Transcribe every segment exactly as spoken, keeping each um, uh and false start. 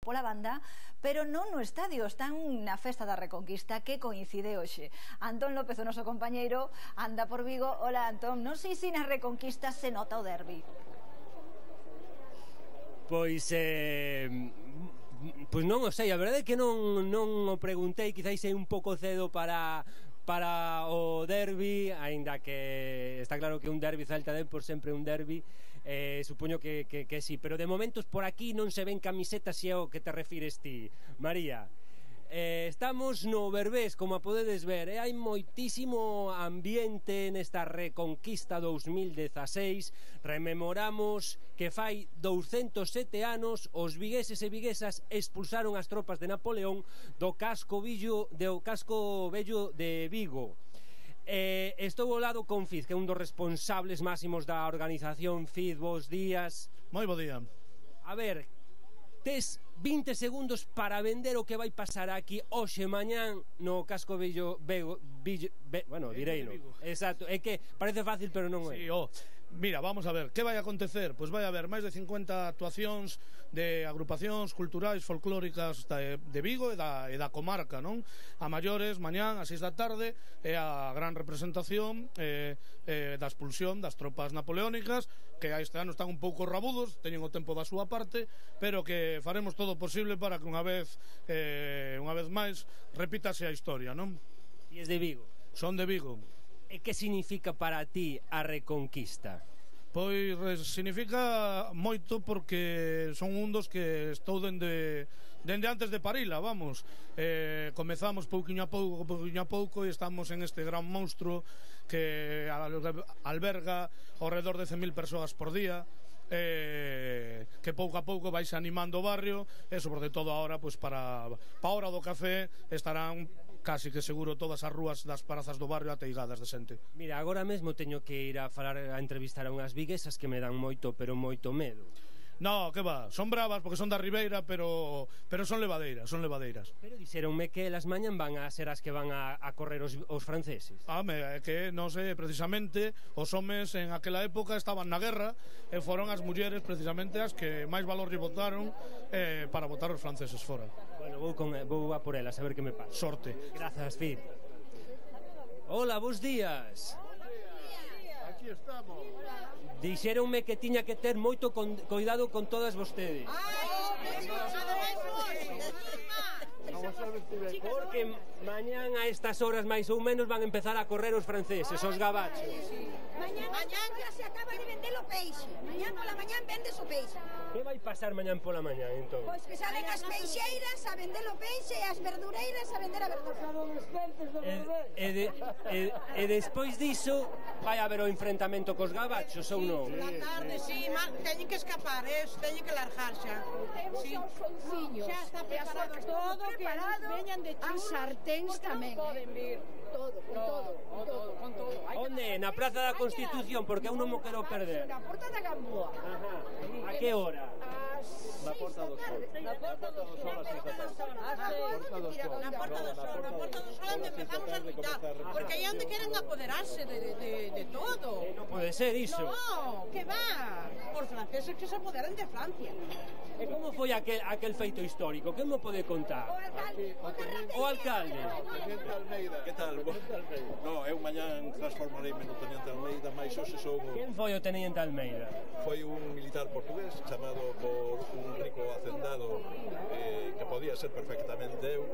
pola banda, pero non no estadio, están na Festa da Reconquista que coincide hoxe. Antón López, o noso compañeiro, anda por Vigo. Hola, Antón, non sei se na Reconquista se nota o derbi. Pois, eh, pois non o sei, a verdade é que non, non o preguntei, quizáis é un pouco cedo para... para o derbi, aínda que está claro que un derbi Celta den por sempre un derbi, eh, supoño que, que, que sí, pero de momentos por aquí non se ven camisetas, se é o que te refires ti, María. Eh, estamos no Berbés, como a podedes ver, e eh, hai moitísimo ambiente nesta Reconquista dous mil dezaseis. Rememoramos que fai douscentos sete anos os vigueses e viguesas expulsaron as tropas de Napoleón do casco villo, do casco vello de Vigo. Eh, estou ao lado con Fiz, que é un dos responsables máximos da organización. Fiz, bos días. Moi bo día. A ver, tes vinte segundos para vender o que vai pasar aquí hoxe mañán no casco vello, Bego, villo, be, bueno, direino. Exacto, é que parece fácil, pero non é. Sí, oh. Mira, vamos a ver, que vai acontecer? Pois vai haber máis de cincuenta actuacións de agrupacións culturais folclóricas de, de Vigo e da, e da comarca, non? A maiores, mañán, a seis da tarde, é a gran representación eh, eh, da expulsión das tropas napoleónicas, que a este ano están un pouco rabudos, teñen o tempo da súa parte, pero que faremos todo o posible para que unha vez, eh, unha vez máis, repítase a historia, non? E es de Vigo? Son de Vigo. E que significa para ti a Reconquista? Pois significa moito porque son un dos que estou dende, dende antes de parila, vamos. Eh, comezamos pouquiño a pouco, pouquiño a pouco e estamos en este gran monstruo que alberga ao redor de cen mil persoas por día. Eh, que pouco a pouco vais animando o barrio e sobre todo agora, pois para, para a hora do café estarán casi que seguro todas as rúas das prazas do barrio ateigadas de xente. Mira, agora mesmo teño que ir a falar, a entrevistar a unhas viguesas que me dan moito, pero moito medo. No, que va, son bravas porque son da Ribeira, pero pero son levadeiras, son levadeiras. Pero dixeronme que elas mañan van a ser as que van a, a correr os, os franceses. Ah, me, é que non sei, precisamente os homes en aquela época estaban na guerra e foron as mulleres precisamente as que máis valor lle botaron eh, para botar os franceses fora. Bueno, vou, con, vou a por elas a ver que me pasa. Sorte. Grazas, Fid. Hola, bos días. Aquí estamos. Dixéronme que tiña que ter moito con, cuidado con todas vostedes. Porque mañán a estas horas máis ou menos van a empezar a correr os franceses, os gabachos. Mañán, mañán ya se acaba de vender o peixe. Mañán pola mañán vendes o peixe. Que vai pasar mañán pola mañán, entón? Pois que salen as peixeiras a vender o peixe e as verdureiras a vender a verdura. E, e, de, e, e despois diso vai haber o enfrentamento cos gabachos ou non? Na tarde, sí, teñen que escapar, eh, teñen que largar xa. Sí. Xa está preparado todo, que veñan de chus. As sarténs tamén. Poden vir. Todo, con todo, con todo, con todo. Onde? Na Praza da Constitución, porque eu non mo quero perder. Na Porta da Gamboa. Ajá. A que hora? Na Porta do Sol. Na Porta do Sol, a seis da tarde. Na Porta do Sol, na Porta do Sol onde empezamos a lutar, porque aí onde queren apoderarse de, de, de todo. Non pode ser iso. No, que va? Os franceses que se apoderan de Francia. E como foi aquel, aquel feito histórico? Que me pode contar? O alcalde. Teniente Almeida, que tal? No, eu mañán transformareime no Teniente Almeida, mais hoxe son... Quen foi o Teniente Almeida? Foi un militar portugués chamado por un rico hacendado eh, que podía ser perfectamente eu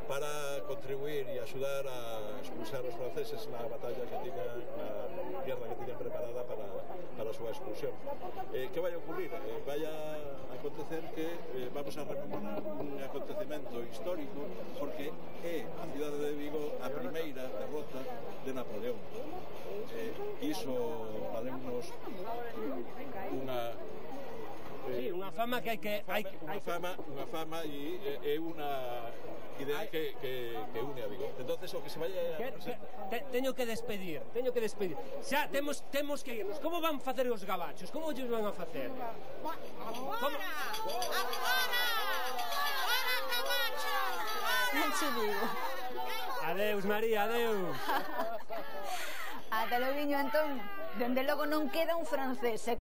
para contribuir e axudar a expulsar os franceses na batalla que tiña, na guerra que tiñan preparada para, para a súa expulsión. Eh, que vai a ocurrir? Eh, vai a acontecer que eh, vamos a rememorar un acontecemento histórico porque é a cidade de Vigo a primeira derrota de Napoleón. Eh, iso valemos unha Sí, unha fama que hai que... Unha fama, unha fama, unha fama e é unha idea que, que, que une a Vigo. Entonces o que se vaya... Que, que, te, teño que despedir, teño que despedir. Xa, temos, temos que irnos. Como van facer os gabachos? Como ellos van a facer? Agora! Agora! Agora, gabachos! Non se digo. Adeus, María, adeus. Ata logo, Antón. Dende logo non queda un francés.